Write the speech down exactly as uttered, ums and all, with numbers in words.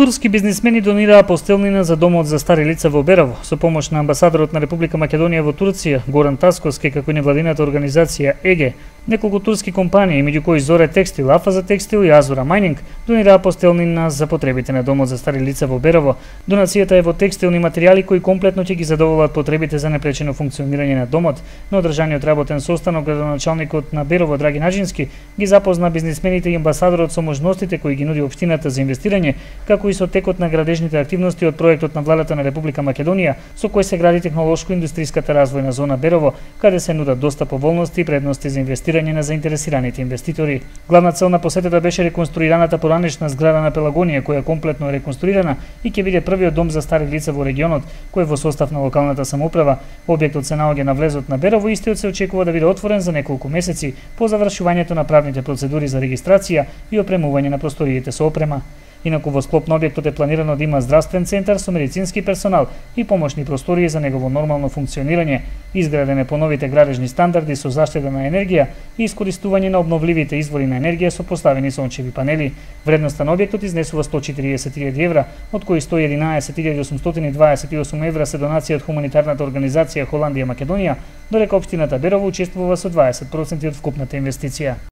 Турски бизнисмени донираа постелнина за домот за стари лица во Берово со помош на амбасадорот на Република Македонија во Турција Горан Тасковски, како и невладината организација ЕГЕ. Неколку турски компании, меѓу кои Зоре Текстил, Афаза Текстил и Азура Майнинг, донираа постелнина за потребите на домот за стари лица во Берово. Донацијата е во текстилни материјали кои комплетно ќе ги задоволат потребите за непречено функционирање на домот. На одржаниот работен состанок, градоначалникот на Берово Драги Наџински ги запозна бизнисмените и амбасадорот со можностите кои ги нуди општината за инвестирање, како и со текот на градежните активности од проектот на владата на Република Македонија, со кој се гради технолошко-индустријската развојна зона Берово, каде се нудат доста поволности и предности за инвестирање на заинтересираните инвеститори. Главна цел на посетата беше реконструираната поранешна зграда на Пелагонија, која комплетно е реконструирана и ќе биде првиот дом за стари лица во регионот, кој е во состав на локалната самоуправа. Објектот се наоѓа на влезот на Берово и истиот се очекува да биде отворен за неколку месеци по завршувањето на правните процедури за регистрација и опремување на просториите со опрема. Инаку во склоп на објектот е планирано да има здравствен центар со медицински персонал и помошни простории за негово нормално функционирање. Изграден е по новите градежни стандарди со заштеда на енергија и искористување на обновливите извори на енергија со поставени сончеви панели. Вредноста на објектот изнесува сто четириесет илјади евра, од кои сто и единаесет илјади осумстотини дваесет и осум евра се донација од хуманитарната организација Холандија Македонија, додека општината Берово учествува со дваесет проценти од вкупната инвестиција.